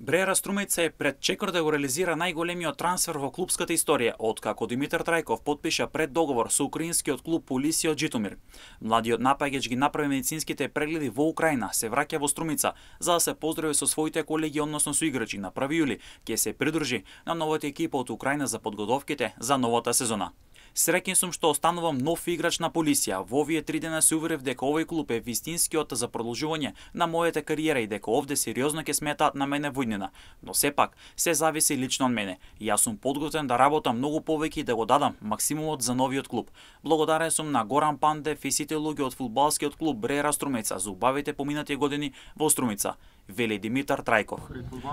Бреера Струмица е пред чекор да го реализира најголемиот трансфер во клупската историја, откако Димитар Трајков подпиша преддоговор со украинскиот клуб Полисија од Житомир. Младиот напаѓач ги направи медицинските прегледи во Украина, се враќа во Струмица за да се поздрави со своите колеги, односно со играчи. На 1 јули ќе се придружи на новата екипа од Украина за подготовките за новата сезона. Среќен сум што останувам нов играч на Полисија. Во овие 3 дена се уверив дека овој клуб е вистинскиот за продолжување на мојата кариера и дека овде сериозно ќе сметаат на мене во иднина. Но сепак, се зависи лично од мене. Јас сум подготвен да работам многу повеќе и да го дадам максимумот за новиот клуб. Благодарен сум на Горан Пандев и сите луѓе од фудбалскиот клуб Бреера Струмица за убавите поминати години во Струмица, вели Димитар Трајков.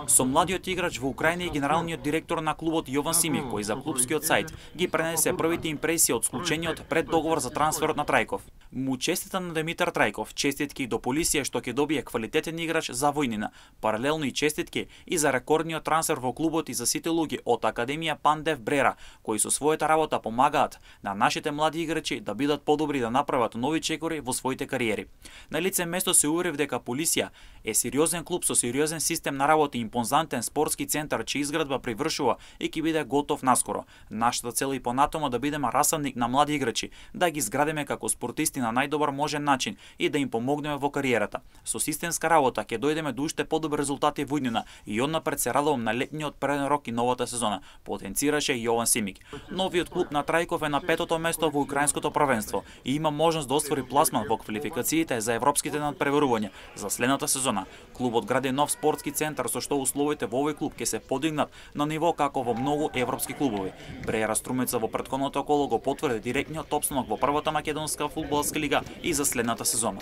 Со младиот играч во Украина и генералниот директор на клубот Јован Симик, кој за клубскиот сајт ги пренесе првите импресии од склучениот преддоговор за трансферот на Трајков. Му честита на Димитар Трајков, честитки до Полисија што ќе добие квалитетен играч за војнина, паралелно и честитки и за рекордниот трансфер во клубот и за сите луѓе од Академија Пандев Бреера, кои со својата работа помагаат на нашите млади играчи да бидат подобри и да направат нови чекори во своите кариери. На лице место се уверив дека Полисија е сериозен клуб со сериозен систем на работа и импозантен спортски центар чија изградба привршува и ќе биде готов наскоро. Нашата цел и понатома да бидеме расадник на млади играчи, да ги изградиме како спортисти на најдобар можен начин и да им помогнеме во кариерата. Со системска работа ќе дојдеме до уште подобри резултати во иднина и однапред се радувам на летниот преден рок и новата сезона, потенцираше Јован Симик. Новиот клуб на Трајков е на 5-то место во украинското првенство и има можност да оствари пласман во квалификациите за европските надпреварувања за следната сезона. Клубот гради нов спортски центар со што условите во овој клуб ќе се подигнат на ниво како во многу европски клубови. Бреера Струмица во претходното коло го потврди директниот опстанок во првата македонска фудбалска лига и за следната сезона.